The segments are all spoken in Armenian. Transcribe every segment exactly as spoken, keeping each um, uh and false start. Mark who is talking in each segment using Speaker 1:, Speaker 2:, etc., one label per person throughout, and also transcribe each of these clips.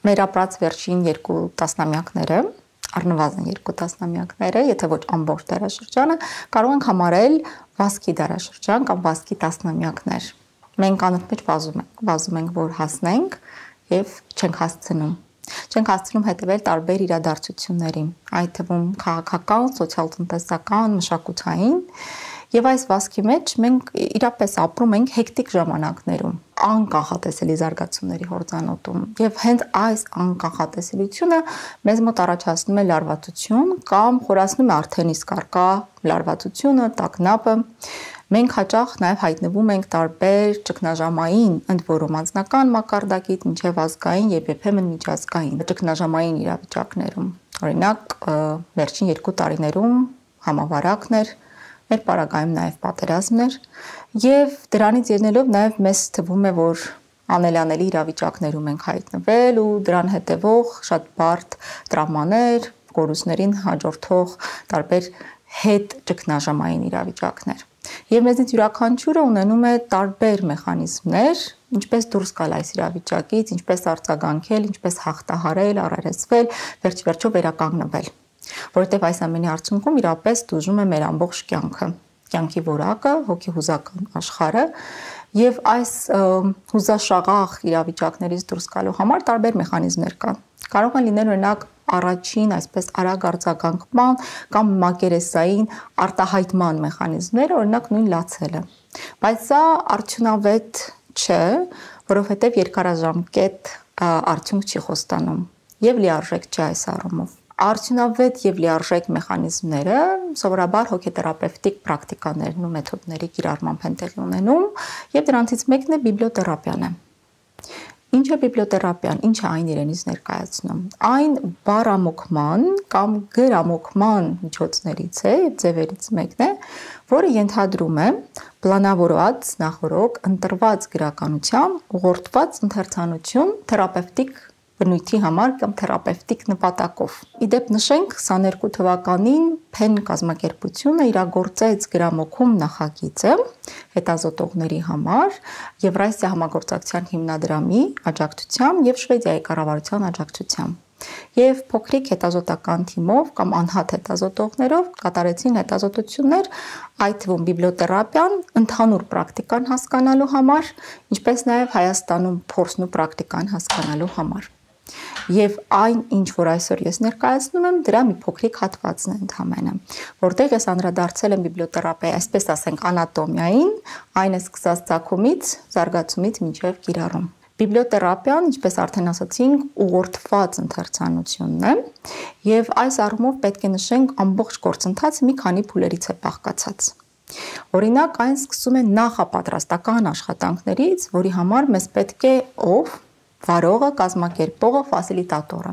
Speaker 1: մեր ապրած վերջին երկու տասնամյակները, առնվազն երկու տասնամյակները, եթե ոչ ամբողջ դարաշրջանը, կարող ենք համարել վազքի դարաշրջան կամ վազքի տասնամյակներ։ Մենք անընդմեջ վազում ենք, վազում ենք, որ հասնենք եւ չենք հասցնում։ Չենք հասցնում հետևել տարբեր իրադարձությունների, այդ թվում քաղաքական, սոցիալ-տնտեսական, մշակութային, եւ այս վազքի մեջ մենք իրապես ապրում ենք հեկտիկ ժամանակներում, անկախատեսելի զարգացումների հորձանուտում, եւ հենց այս անկախատեսելիությունը մեզ մոտ առաջացնում է լարվածություն կամ խորացնում է արդեն իսկ առկա լարվածությունը, տագնապը։ Մենք հաճախ նաև հայտնվում ենք տարբեր ճգնաժամային, ընդ որում անձնական մակարդակից մինչև ազգային եւ երբեմն միջազգային ճգնաժամային իրավիճակներում։ Օրինակ, վերջին երկու տարիներում համավարակներ, մեր պարագայում նաև պատերազմներ, եւ դրանից ելնելով նաև մեզ թվում է, որ անելանելի իրավիճակներում ենք հայտնվել ու դրան հետևող շատ բարդ տրավմաներ, կորուստներին հաջորդող տարբեր հետ ճգնաժամային իրավիճակներ։ Եվ մեզնից յուրաքանչյուրը ունենում է տարբեր մեխանիզմներ, ինչպես դուրս գալ այս իրավիճակից, ինչպես արձագանքել, ինչպես հաղթահարել, առերեսվել, վերջ-վերջո վերականգնվել։ Որովհետև այս ամենի արդյունքում իրապես դժում է մեր ամբողջ կյանքը, կյանքի որակը, հոգեհուզական աշխարհը, եւ այս հուզաշաղախ իրավիճակներից դուրս գալու համար տարբեր մեխանիզմներ կան։ Կարող են լինել օրինակ առաջին այսպես արագ արձագանքման կամ մակերեսային արտահայտման մեխանիզմները, օրինակ նույն լացելը։ Բայց սա արդյունավետ չէ, որովհետև երկարաժամկետ արդյունք չի խոստանում եւ լիարժեք չէ այս առումով։ Արդյունավետ եւ լիարժեք մեխանիզմները սովորաբար հոգեթերապևտիկ պրակտիկաներն ու մեթոդների կիրառմամբ են տեղի ունենում, եւ դրանցից մեկն է բիբլիոթերապիան է։ Ինչ է բիբլիոթերապիան, ինչ է այն իրենից ներկայացնում։ Այն բառամոկման կամ գրամոկման միջոցներից է, ձևերից մեկն է, որը ենթադրում է պլանավորված, նախորոք ընտրված գրականությամբ ուղղորդված ընթերցանություն թերապևտիկ բնույթի համար կամ թերապևտիկ նպատակով։ Իդեպ նշենք քսաներկու թվականին Փեն կազմակերպությունը իրագործեց գրամոկում նախագիծը հետազոտողների համար Եվրասիա համագործակցության հիմնադրամի աջակցությամբ եւ Շվեդիայի կառավարության աջակցությամբ։ Եվ փոքրիկ հետազոտական թիմով կամ անհատ հետազոտողներով կատարեցին հետազոտություններ, այդ թվում բիբլիոթերապիան ընդհանուր պրակտիկան հասկանալու համար, ինչպես նաեւ Հայաստանում փորձն ու պրակտիկան հասկանալու համար։ Եվ այն, ինչ որ այսօր ես ներկայացնում եմ, դրա մի փոքրիկ հատվածն է ընդհանրապես, որտեղ ես անդրադարձել եմ բիբլիոթերապիայի, այսպես ասենք, անատոմիային, այն է սկսած ծագումից, զարգացումից մինչև կիրառում։ Բիբլիոթերապիան, ինչպես արդեն ասացինք, ուղղորդված ընթերցանությունն է, եւ այս առումով պետք է նշենք ամբողջ գործընթացը մի քանի փուլերից է բաղկացած։ Օրինակ, այն սկսում է նախապատրաստական աշխատանքներից, որի համար մեզ պետք է ով վարողը, կազմակերպողը, ֆասիլիտատորը։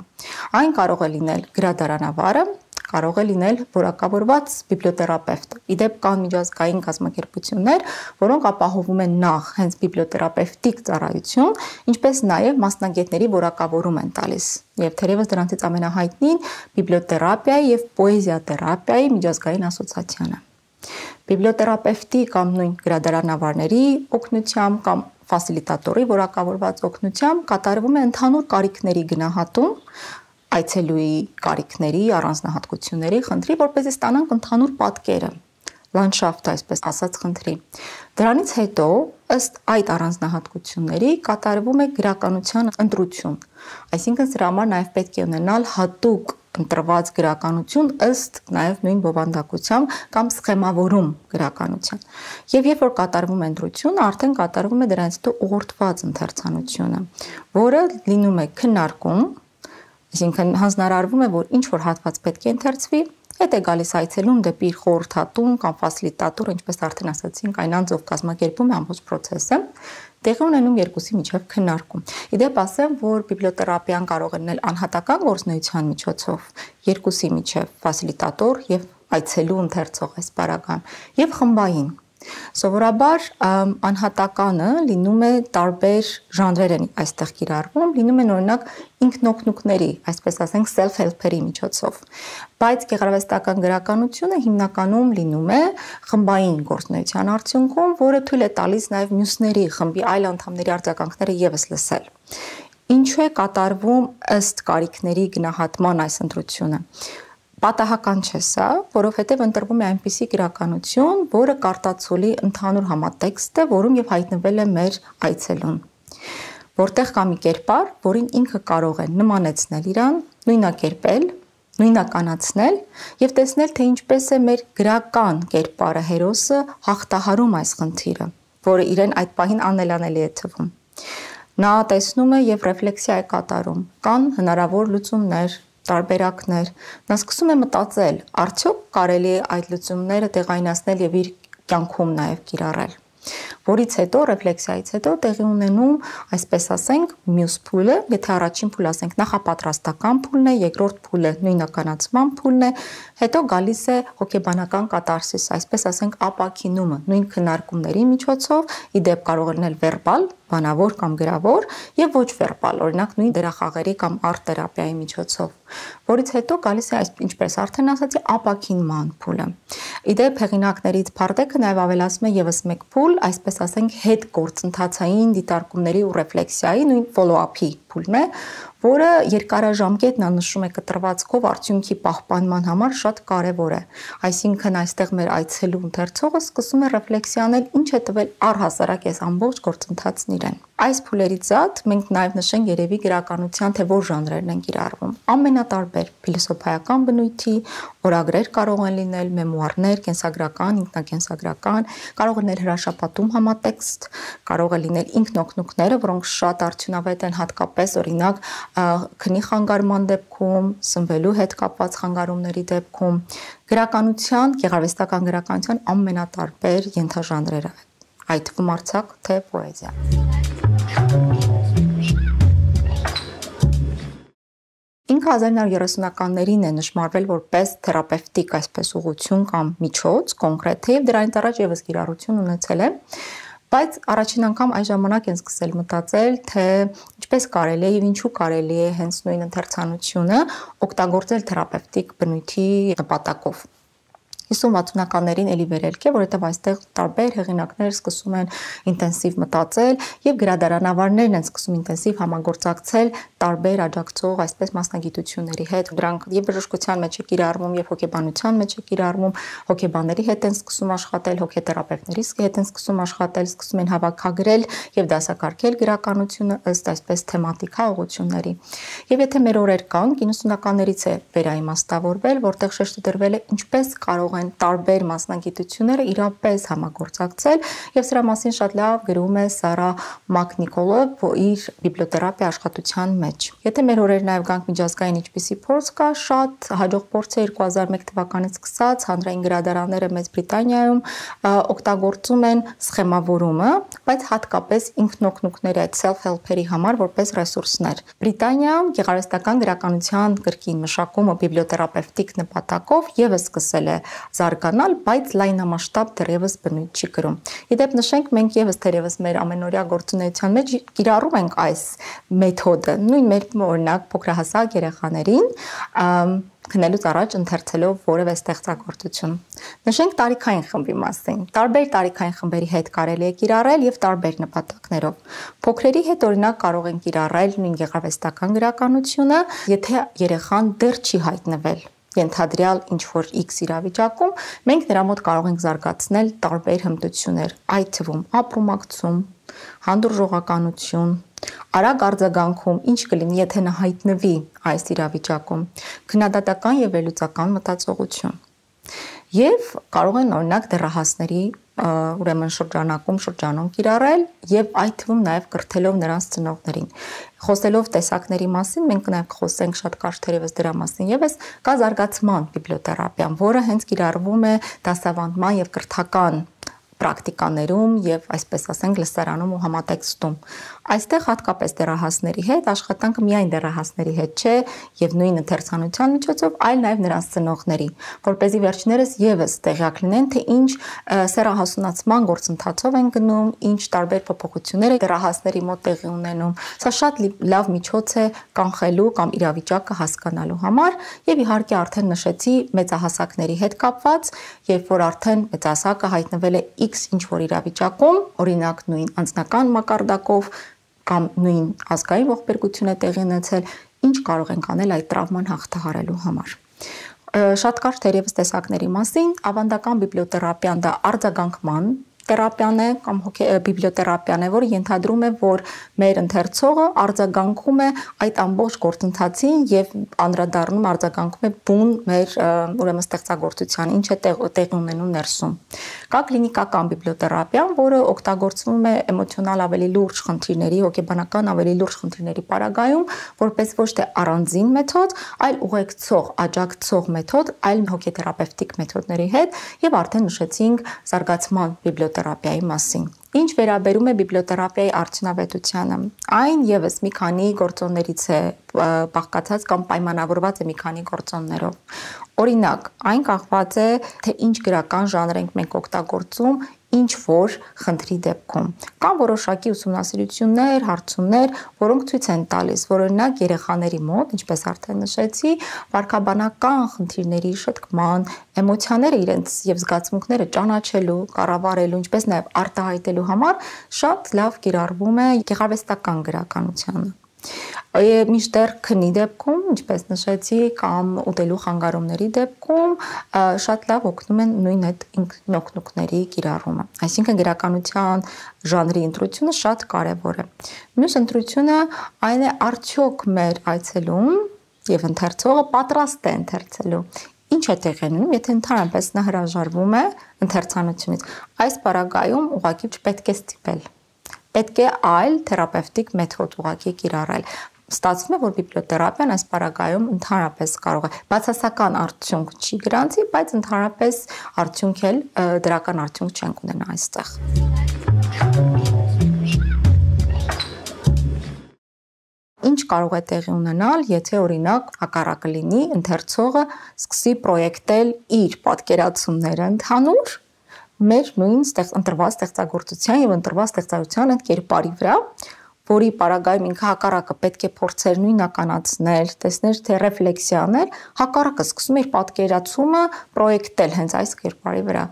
Speaker 1: Այն կարող է լինել գրադարանավարը, կարող է լինել որակավորված բիբլիոթերապևտը։ Իդեպ կան միջազգային կազմակերպություններ, որոնք ապահովում են նախ հենց բիբլիոթերապևտիկ ծառայություն, ինչպես նաև մասնագետների որակավորում են տալիս։ Եվ թերևս դրանցից ամենահայտնին բիբլիոթերապիայի եւ պոեզիաթերապիայի միջազգային ասոցիացիան է։ Բիբլիոթերապևտի կամ նույն գրադարանավարների օգնությամբ կամ ֆասիլիտատորի որակավորված օգնությամբ կատարվում է ընդհանուր կարիքների գնահատում, այցելուի կարիքների, առանձնահատկությունների խնդրի, որպեսզի ստանանք ընդհանուր պատկերը, լանդշաֆտը, այսպես ասած, խնդրի։ Դրանից հետո, ըստ այդ առանձնահատկությունների, կատարվում է գրականության ընտրություն, այսինքն սրա համար նաև պետք է ունենալ հատուկ ընտրված գրականություն ըստ նաև նույն բովանդակությամբ կամ սխեմավորում գրականության։ Եվ երբ որ կատարվում է ընտրությունը, արդեն կատարվում է դրանից հետո ուղղորդված ընթերցանությունը, որը լինում է քննարկում, այսինքն հանձնարարվում է, որ ինչ որ հատված պետք է ընթերցվի, հետ է գալիս այցելուն դեպի իր խորհրդատուն կամ ֆասիլիտատոր, ինչպես արդեն ասացինք, այն անձով կազմակերպում է ամբողջ process-ը, տեղի ունենում երկուսի միջև քննարկում։ Իդեպ ասեմ, որ բիբլիոթերապիան կարող է լինել անհատական գործունեության միջոցով, երկուսի միջև ֆասիլիտատոր եւ այցելու ընթերցող այս պարագայում, եւ խմբային։ Սովորաբար անհատականը լինում է տարբեր ժանրեր են այստեղ կիրառվում, լինում են օրինակ ինքնօգնուկների, այսպես ասենք self-help-երի միջոցով, բայց գեղարվեստական գրականությունը հիմնականում լինում է խմբային գործունեության արդյունքում, որը թույլ է տալիս նաև մյուսների խմբի այլ անդամների արձագանքները եւս լսել։ Ինչու է կատարվում ըստ կարիքների գնահատման այս ընտրությունը։ Պատահական չէ սա, որովհետև ընտրվում է այնպիսի գրականություն, որը կարտացոլի ընդհանուր համատեքստը, որում եւ հայտնվել է մեր այցելուն։ Որտեղ կա մի կերպար, որին ինքը կարող է նմանեցնել իրան, նույնակերպել, նույնականացնել եւ տեսնել, թե ինչպես է մեր գրական կերպարը, հերոսը հաղթահարում այս խնդիրը, որը իրեն այդ պահին անելանելի է թվում։ Նա տեսնում է եւ ռեֆլեքսիա է կատարում, կան հնարավոր լուծումներ, տարբերակներ, նա սկսում է մտածել, արդյոք կարելի է այդ լուծումները տեղայնացնել եւ իր կյանքում նաեւ կիրառել, որից հետո ռեֆլեքսիայից հետո տեղի ունենում, այսպես ասենք, մյուս փուլը, եթե առաջին փուլը ասենք նախապատրաստական փուլն է, երկրորդ փուլը նույնականացման փուլն է, հետո գալիս է հոգեբանական կատարսիս, այսպես ասենք ապաքինումը, նույն քննարկումների միջոցով, ի դեպ կարող է լինել վերբալ, բանավոր կամ գրավոր եւ ոչ վերբալ, օրինակ նույն դերախաղերի կամ արտ թերապիայի միջոցով, որից հետո գալիս է, ինչպես արդեն ասացի, ապաքինման փուլը։ Իդեպ հեղինակներից Փարդեկը նաեւ ավելացնում է եւս մեկ փուլ, այսպես ասենք հետ գործընթացային դիտարկումների ու ռեֆլեքսիայի, նույն follow-up-ի փուլն է, որը երկարաժամկետ նա նշում է կտրվածքով արդյունքի պահպանման համար շատ կարևոր է։ Այսինքն այստեղ մեր այցելու ընթերցողը սկսում է ռեֆլեքսիանել, ինչ է տվել առհասարակ այս ամբողջ գործընթացն իրեն։ Այս փուլերից զատ մենք նաև նշենք երևի գրականության, թե որ ժանրերն են կիրառվում։ Ամենատարբեր փիլիսոփայական բնույթի, օրագրեր կարող են լինել, մեմուարներ, կենսագրական, ինքնակենսագրական, կարող է լինել հրաշապատում համատեքստ, կարող է լինել ինքնօգնությունները, որոնք շատ արդյունավետ են հատկապես օրինակ քնի խանգարման դեպքում, սնվելու հետ կապված խանգարումների դեպքում, գրականության, գեղարվեստական գրականության ամենատարբեր ենթաժանրերը, այդ թվում արձակ թե պոեզիա։ Ինքը հազար իննսուն երեսունականներին է նշմարվել որպես թերապևտիկ այսպես ուղղություն կամ միջոց կոնկրետ, եւ դրանից առաջ եւս կիրառություն ունեցել է, բայց առաջին անգամ այս ժամանակ են սկսել մտածել, թե ինչպես կարելի է եւ ինչու կարելի է հենց նույն ընթերցանությունը օգտագործել թերապևտիկ բնույթի նպատակով։ հիսուն-վաթսունականներին էլի վերելք է, որովհետև այստեղ տարբեր հեղինակներ սկսում են ինտենսիվ մտածել եւ գրադարանավարներն են սկսում ինտենսիվ համագործակցել տարբեր աջակցող այսպես մասնագիտությունների հետ։ Դրանք եւ բժշկության մեջ է կիրառվում, եւ հոգեբանության մեջ է կիրառվում, հոգեբանների հետ են սկսում աշխատել, հոգեթերապևտների հետ են սկսում աշխատել, սկսում են հավաքագրել եւ դասակարգել գրականությունը ըստ այսպես թեմատիկա ուղղությունների։ Եվ եթե մեր օրեր կան, իննսունականներից է վերաիմաստավորվել, որտեղ շեշտը դրվել է ինչպես կարող են տարբեր մասնագիտությունները իրապես համագործակցել եւ սրա մասին շատ լավ գրում է Սարա Մակնիկոլը իր բիբլիոթերապիա աշխատության մեջ։ Եթե մեր օրեր նաեւ գանք միջազգային ինչպիսի փորձ կա, շատ հաջող փորձ է երկու հազար մեկ թվականից սկսած հանրային գրադարանները Մեծ Բրիտանիայում օգտագործում են սխեմավորումը, բայց հատկապես ինքնօգնությունների այդ self-help-երի համար որպես ռեսուրսներ։ Բրիտանիայում գեղարվեստական գրականության կրկին մշակումը բիբլիոթերապևտիկ նպատակով եւս սկսել է զարգանալ, բայց լայնամասշտաբ դեռևս բնույթ չի կրում։ Իդեպ նշենք, մենք եւս թերևս մեր ամենօրյա գործունեության մեջ կիրառում ենք այս մեթոդը, նույն մեր օրինակ փոքրահասակ երեխաներին քնելուց առաջ ընթերցելով որևէ ստեղծագործություն։ Նշենք տարիքային խմբի մասին։ Տարբեր տարիքային խմբերի հետ կարելի է կիրառել եւ տարբեր նպատակներով։ Փոքրերի հետ օրինակ կարող են կիրառել նույն գեղարվեստական գրականությունը, եթե երեխան դեռ չի հայտնվել ենթադրյալ ինչ-որ X իրավիճակում, մենք նրա մոտ կարող ենք զարգացնել տարբեր հմտություններ, այդ թվում ապրումակցում, հանդուրժողականություն, արագ արձագանքում, ինչ կլինի, եթե նա հայտնվի այս իրավիճակում, քննադատական եւ վերլուծական մտածողություն։ Եվ կարող են օրինակ դեռահասների ուրեմն շրջանակում շրջանում կիրառել եւ այդ թվում նաեւ կրթելով նրանց ծնողներին։ Խոսելով տեսակների մասին, մենք նաեւ կխոսենք շատ կարճ թերևս դրա մասին եւս, կա զարգացման բիբլիոթերապիան, որը հենց կիրառվում է դասավանդման եւ կրթական պրակտիկաներում եւ այսպես ասենք լսարանում ու համատեքստում։ Այստեղ հատկապես դեռահասների հետ աշխատանքը միայն դեռահասների հետ չէ եւ նույն ընթերցանության միջոցով, այլ նաեւ նրանց ծնողների, որպեսզի վերջներս եւս տեղյակ լինեն, թե ինչ սեռահասունացման գործընթացով են գնում, ինչ տարբեր փոփոխություններ դեռահասների մոտ տեղի ունենում։ Սա շատ լավ միջոց է կանխելու կամ իրավիճակը հասկանալու համար եւ իհարկե արդեն նշեցի մեծահասակների հետ կապված, երբ որ արդեն մեծահասակը հայտնվել է X ինչ-որ իրավիճակում, օրինակ նույն անձնական մակարդակով, կամ նույն ազգային ողբերգություն է տեղի ունեցել, ինչ կարող ենք անել այդ տրավման հաղթահարելու համար։ Շատ կարճ թերևս տեսակների մասին, ավանդական բիբլիոթերապիան դա արձագանքման թերապիան է կամ բիբլիոթերապիան է, որը ենթադրում է, որ մեր ընթերցողը արձագանքում է այդ ամբողջ գործընթացին եւ անդրադառնում արձագանքում է բուն մեր ուրեմն ստեղծագործության, ինչ է տեղի ունենում ներսում։ Կա կլինիկական բիբլիոթերապիան, որը օգտագործվում է էմոցիոնալ ավելի լուրջ խնդիրների, հոգեբանական ավելի լուրջ խնդիրների պարագայում, որպես ոչ թե առանձին մեթոդ, այլ ուղեկցող, աջակցող մեթոդ, այլ հոգեթերապևտիկ մեթոդների հետ, եւ արդեն նշեցինք զարգացման բիբլիոթերապիայի մասին։ Ինչ վերաբերում է բիբլիոթերապիայի արդյունավետությանը, այն եւս մի քանի գործոններից է բաղկացած կամ պայմանավորված է մի քանի գործոններով։ Օրինակ, այն կախված է, թե ինչ գրական ժանր ենք մենք օգտագործում, ինչ որ խնդրի դեպքում։ Կան որոշակի ուսումնասիրություններ, հարցումներ, որոնք ցույց են տալիս, որ օրինակ երեխաների մոտ, ինչպես արդեն նշեցի, վարքաբանական խնդիրների շտկման, էմոցիաները իրենց եւ զգացմունքները ճանաչելու, կառավարելու, ինչպես նաեւ արտահայտելու համար շատ լավ կիրառվում է գեղարվեստական գրականությունը։ Մինչդեռ քնի դեպքում, ինչպես նշեցի, կամ ուտելու խանգարումների դեպքում շատ լավ օգնում են նույն այդ ինքնօգնությունների կիրառումը։ Այսինքն գրականության ժանրի ընտրությունը շատ կարևոր է։ Մյուս ընտրությունը այն է, արդյոք մեր այցելուն եւ ընթերցողը պատրաստ է ընթերցելու։ Ինչ է տեղի ունենում, եթե ընդհանրապես նա հրաժարվում է ընթերցանությունից։ Այս պարագայում ուղղակի չպետք է ստիպել։ Պետք է այլ թերապևտիկ մեթոդ ուղղակի կիրառել։ Ստացվում է, որ բիբլիոթերապիան այս պարագայում ընդհանրապես կարող է բացասական արդյունք չի գրանցի, բայց ընդհանրապես արդյունք էլ դրական արդյունք չենք ունենա այստեղ։ Ինչ կարող է տեղի ունենալ, եթե օրինակ հակառակը լինի, ընթերցողը սկսի պրոյեկտել իր պատկերացումները ընդհանուր մեր նույն ընտրված ստեղծագործության եւ ընտրված ստեղծարարության այդ կերպարի վրա, որի պարագայում ինքը հակառակը պետք է փորձեր նույնականացնել, տեսներ թե ռեֆլեքսիաներ, հակառակը սկսում է իր պատկերացումը պրոյեկտել հենց այս կերպարի վրա։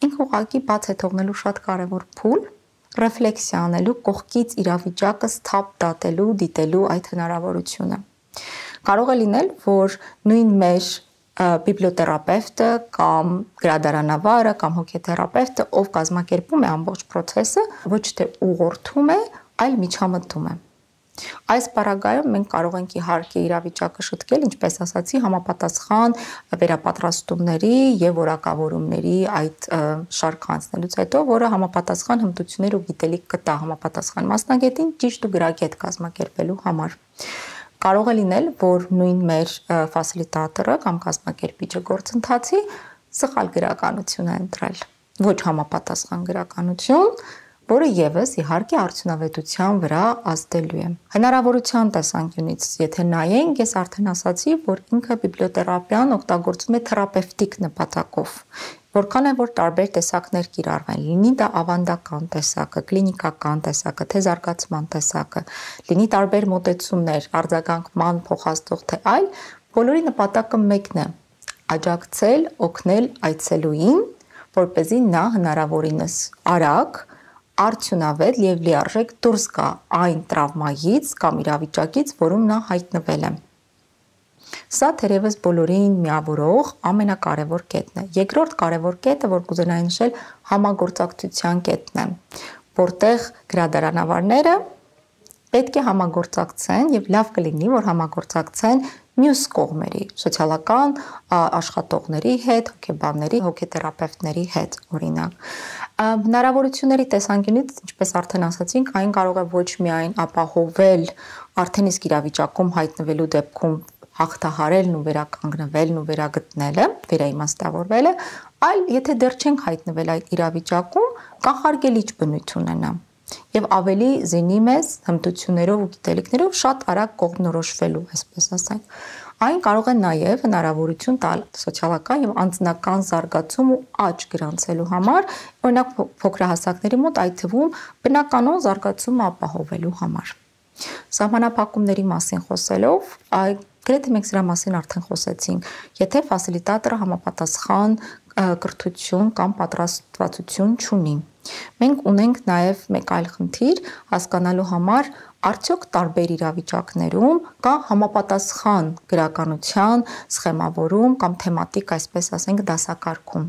Speaker 1: Ինքը ուղղակի բաց է թողնելու շատ կարևոր փուլ, ռեֆլեքսիա անելու, կողքից իրավիճակը սթափ դատելու, դիտելու այդ հնարավորությունը։ Կարող է լինել, որ նույն մեր բիբլիոթերապևտը կամ գրադարանավարը կամ հոգեթերապևտը, ով կազմակերպում է ամբողջ process-ը, ոչ թե ուղղորդում է, այլ միջամտում է։ Այս պարագայում մենք կարող ենք իհարկե իրավիճակը շտկել, ինչպես ասացի, համապատասխան վերապատրաստումների եւ որակավորումների այդ շարքը անցնելուց հետո, որը համապատասխան հմտություններ ու գիտելիք կտա համապատասխան մասնագետին ճիշտ ու գրագետ կազմակերպելու համար։ Կարող է լինել, որ նույն մեր ֆասիլիտատորը կամ կազմակերպիչը գործընթացի սխալ գրականություն է ընտրել, ոչ համապատասխան գրականություն, որը եւս իհարկե արդյունավետության վրա ազդելու է։ Հնարավորության տեսանկյունից, եթե նայենք, ես արդեն ասացի, որ ինքը բիբլիոթերապիան օգտագործում է թերապևտիկ նպատակով, որքան է որ տարբեր տեսակներ կիրառվեն, լինի դա ավանդական տեսակը, կլինիկական տեսակը, թե զարգացման տեսակը, լինի տարբեր մոտեցումներ, արձագանքման փոխազդող թե այլ, բոլորի նպատակը մեկն է՝ աջակցել, օգնել այցելուին, որպեսզի նա հնարավորինս արագ, արդյունավետ եւ լիարժեք դուրս գա այն տրավմայից կամ իրավիճակից, որում նա հայտնվել է։ Սա թերևս բոլորին միավորող ամենակարևոր կետն է։ Երկրորդ կարևոր կետը, որ կուզենայի նշել, համագործակցության կետն է, որտեղ գրադարանավարները պետք է համագործակցեն եւ լավ կլինի, որ համագործակցեն մյուս կողմերի, սոցիալական աշխատողների հետ, հոգեբանների, հոգեթերապևտների հետ, օրինակ։ Հնարավորությունների տեսանկյունից, ինչպես արդեն ասացինք, այն կարող է ոչ միայն ապահովել արդեն իսկ իրավիճակում հայտնվելու դեպքում հաղթահարելն ու վերականգնվելն ու վերագտնելը, վերաիմաստավորվելը, այլ եթե դեռ չենք հայտնվել այդ իրավիճակում, կանխարգելիչ բնույթ ունենա եւ ավելի զինի մեզ հմտություններով ու գիտելիքներով շատ արագ կողմնորոշվելու, այսպես ասենք։ Այն կարող է նաեւ հնարավորություն տալ սոցիալական եւ անձնական զարգացում ու աճ գրանցելու համար, օրինակ փոքրահասակների մոտ այդ թվում բնականon զարգացումը ապահովելու համար։ Սահմանափակումների մասին խոսելով, գրեթե մենք սրա մասին արդեն խոսեցինք, եթե ֆասիլիտատորը համապատասխան կրթություն կամ պատրաստվածություն չունի Մենք ունենք նաև մեկ այլ խնդիր հասկանալու համար, արդյոք տարբեր իրավիճակներում կա համապատասխան գրականության, սխեմավորում կամ թեմատիկ, այսպես ասենք, դասակարգում։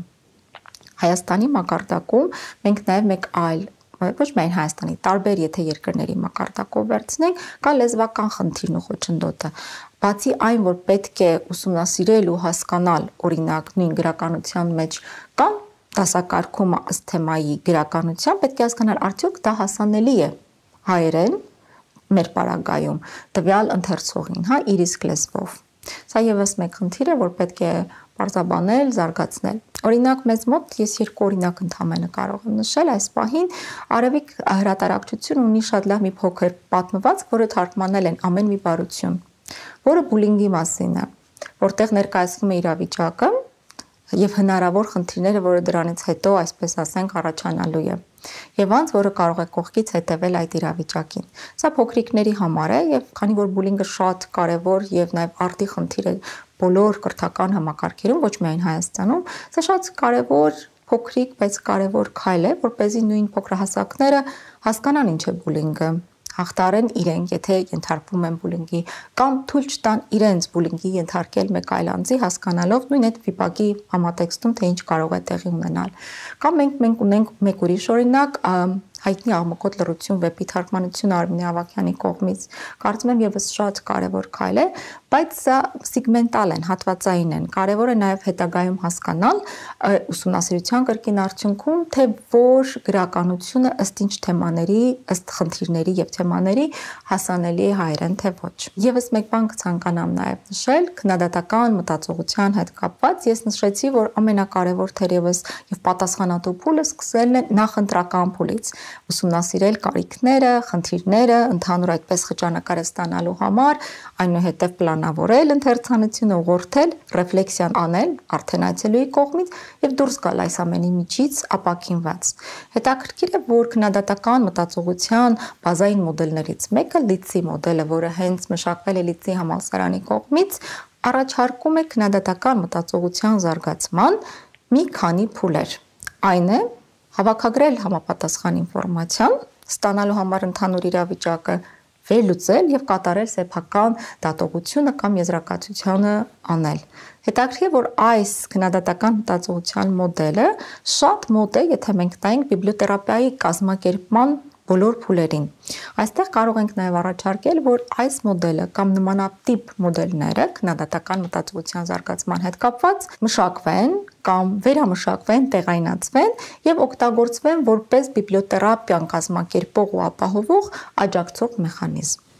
Speaker 1: Հայաստանի մակարդակում մենք նաև մեկ այլ, ոչ միայն Հայաստանի, տարբեր եթե երկրների մակարդակով վերցնենք, կա լեզվական խնդիրն ու խոչընդոտը։ Բացի այն, որ պետք է ուսումնասիրել ու հասկանալ, օրինակ, նույն գրականության մեջ կամ դասակարգումը ըստ թեմայի գրականության, պետք է հասկանալ, արդյոք դա հասանելի է հայերեն մեր պարագայում տվյալ ընթերցողին, հա, իր իսկ լեզվով։ Սա եւս մեկ խնդիր է, որ պետք է պարզաբանել, զարգացնել։ Օրինակ, մեզ մոտ ես երկու օրինակ ընդհանրապես կարող եմ նշել այս պահին, Արևիկ հրատարակչություն ունի շատ լավ մի փոքր պատմվածք, որը թարգմանել են ամեն մի բարություն, որը բուլինգի մասին է, որտեղ ներկայացնում է իրավիճակը եւ հնարավոր խնդիրները, որը դրանից հետո, այսպես ասենք, առաջանալու է։ Եվ անց, որը կարող է կողքից հետևել այդ իրավիճակին։ Սա փոքրիկների համար է եւ քանի որ բուլինգը շատ կարեւոր եւ նաեւ արդի խնդիր է բոլոր կրթական համակարգերում, ոչ միայն Հայաստանում, սա շատ կարեւոր փոքրիկ, բայց կարեւոր քայլ է, որպեսզի նույն փոքրահասակները հասկանան ինչ է բուլինգը, հաղթարեն իրենք, եթե ենթարկվում են բուլինգի, կամ թույլ չտան իրենց բուլինգի ենթարկել մեկ այլ անձի, հասկանալով նույն այդ վիպակի համատեքստում, թե ինչ կարող է տեղի ունենալ։ Կամ մենք մենք ունենք մեկ ուրիշ օրինակ, հայտնի աղմկոտ լռություն վեպի թարգմանությունը Արմինե Ավագյանի կողմից, կարծում եմ եւս շատ կարեւոր քայլ է, բայց սա սիգմենտալ են, հատվածային են։ Կարեւոր է նաեւ հետագայում հասկանալ ուսումնասիրության կրկին արդյունքում, թե որ գրականությունը ըստ ինչ թեմաների, ըստ խնդիրների եւ թեմաների հասանելի է հայերեն, թե ոչ։ Եվս մեկ բան կցանկանամ նաեւ նշել, քննադատական մտածողության հետ կապված, ես նշեցի, որ ամենակարևոր թերևս եւ պատասխանատու փուլը սկսելն է նախընտրական փուլից, ուսումնասիրել կարիքները, խնդիրները, ընդհանուր այդպես խճանկարը ստանալու համար, այնուհետև պլանավորել ընթերցանությունը, ուղղորդել, ռեֆլեքսիան անել արդեն այցելուի կողմից եւ դուրս գալ այս ամենի միջից ապաքինված։ Հետաքրքիր է, որ քննադատական մտածողության բազային մոդելներից մեկը Լիցի մոդելը, որը հենց մշակվել է Լիցի համալսարանի կողմից, առաջարկում է քննադատական մտածողության զարգացման մի քանի փուլեր։ Այն է հավաքագրել համապատասխան ինֆորմացիան, ստանալու համար ընդհանուր իրավիճակը, վերլուծել եւ կատարել սեփական դատողությունը կամ եզրակացությունը անել։ Հետաքրքիր է, որ այս քննադատական մտածողության մոդելը շատ մոտ է, եթե մենք տայինք բիբլիոթերապիայի կազմակերպման բոլոր փուլերին։ Այստեղ կարող ենք նաև առաջարկել, որ այս մոդելը կամ նմանատիպ մոդելները քննադատական մտածողության զարգացման հետ կապված մշակվեն կամ վերամշակվեն, տեղայնացվեն եւ օգտագործվեն որպես բիբլիոթերապիան կազմակերպող ու ապահովող աջակցող մեխանիզմ։